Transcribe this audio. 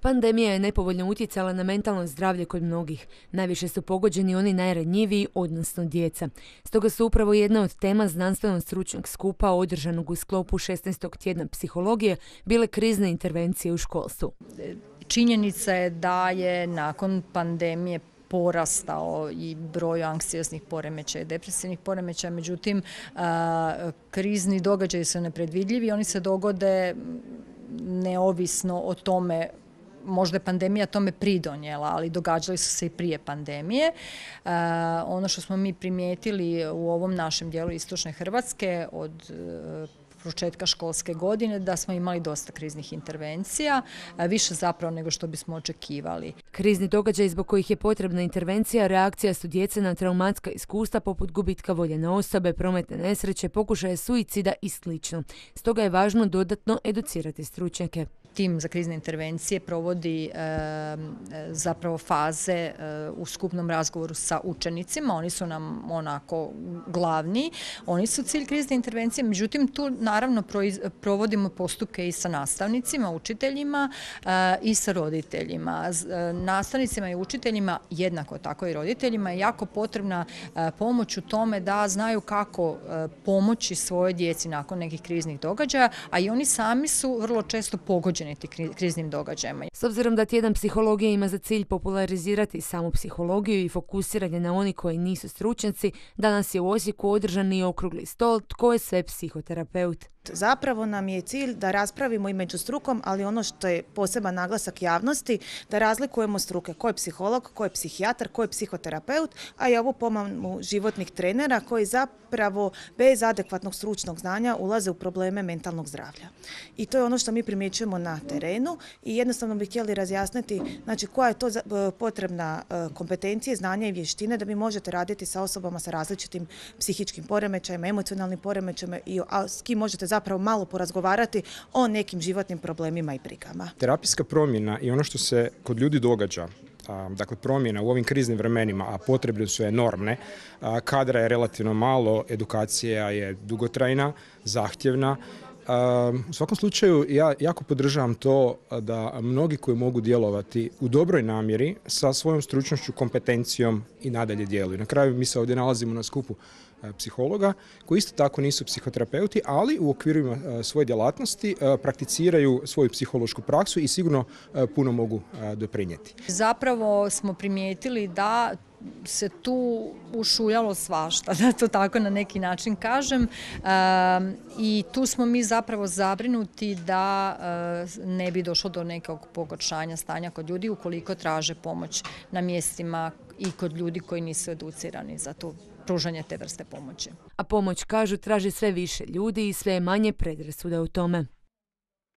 Pandemija je nepovoljno utjecala na mentalno zdravlje kod mnogih. Najviše su pogođeni oni najranjiviji, odnosno djeca. Stoga su upravo jedna od tema znanstveno-stručnog skupa održanog u sklopu 16. tjedna psihologije bile krizne intervencije u školstvu. Činjenica je da je nakon pandemije porastao i broj anksioznih poremećaja i depresivnih poremećaja, međutim krizni događaji su nepredvidljivi, oni se dogode neovisno o tome. Možda je pandemija tome pridonijela, ali događali su se i prije pandemije. Ono što smo mi primijetili u ovom našem dijelu istočne Hrvatske od početka školske godine, da smo imali dosta kriznih intervencija, više zapravo nego što bismo očekivali. Krizni događaj zbog kojih je potrebna intervencija reakcija su djece na traumatska iskustva poput gubitka voljene osobe, prometne nesreće, pokušaja suicida i sl. Stoga je važno dodatno educirati stručnjake. Tim za krizne intervencije provodi zapravo faze u skupnom razgovoru sa učenicima. Oni su nam onako glavni. Oni su cilj krizne intervencije. Međutim, tu naravno provodimo postupke i sa nastavnicima, učiteljima i sa roditeljima. Nastavnicima i učiteljima, jednako tako i roditeljima, je jako potrebna pomoć u tome da znaju kako pomoći svojoj djeci nakon nekih kriznih događaja, a i oni sami su vrlo često pogođeni kriznim događajima. S obzirom da tjedan psihologije ima za cilj popularizirati samu psihologiju i fokusiranje na oni koji nisu stručnjaci, danas je u Osijeku održan i okrugli stol Tko je sve psihoterapeut. Zapravo nam je cilj da raspravimo i među strukom, ali ono što je poseban naglasak javnosti, da razlikujemo struke. Ko je psiholog, ko je psihijatar, ko je psihoterapeut, a i ovu pomamu životnih trenera koji zapravo bez adekvatnog stručnog znanja ulaze u probleme mentalnog zdravlja. I to je ono što mi primjećujemo na terenu i jednostavno bi htjeli razjasniti znači, koja je to potrebna kompetencije, znanja i vještine da vi možete raditi sa osobama sa različitim psihičkim poremećajima, emocionalnim poremećajima i s kim možete zapravo malo porazgovarati o nekim životnim problemima i brigama. Terapijska promjena i ono što se kod ljudi događa, dakle promjena u ovim kriznim vremenima, a potrebe su enormne, kadra je relativno malo, edukacija je dugotrajna, zahtjevna. U svakom slučaju ja jako podržavam to da mnogi koji mogu djelovati u dobroj namjeri sa svojom stručnošću, kompetencijom i nadalje djeluju. Na kraju mi se ovdje nalazimo na skupu psihologa koji isto tako nisu psihoterapeuti, ali u okvirima svoje djelatnosti prakticiraju svoju psihološku praksu i sigurno puno mogu doprinijeti. Zapravo smo primijetili da se tu ušuljalo svašta, da to tako na neki način kažem, i tu smo mi zapravo zabrinuti da ne bi došlo do nekog pogoršanja stanja kod ljudi ukoliko traže pomoć na mjestima i kod ljudi koji nisu educirani za to pružanje te vrste pomoći. A pomoć, kažu, traži sve više ljudi i sve manje predrasuda u tome.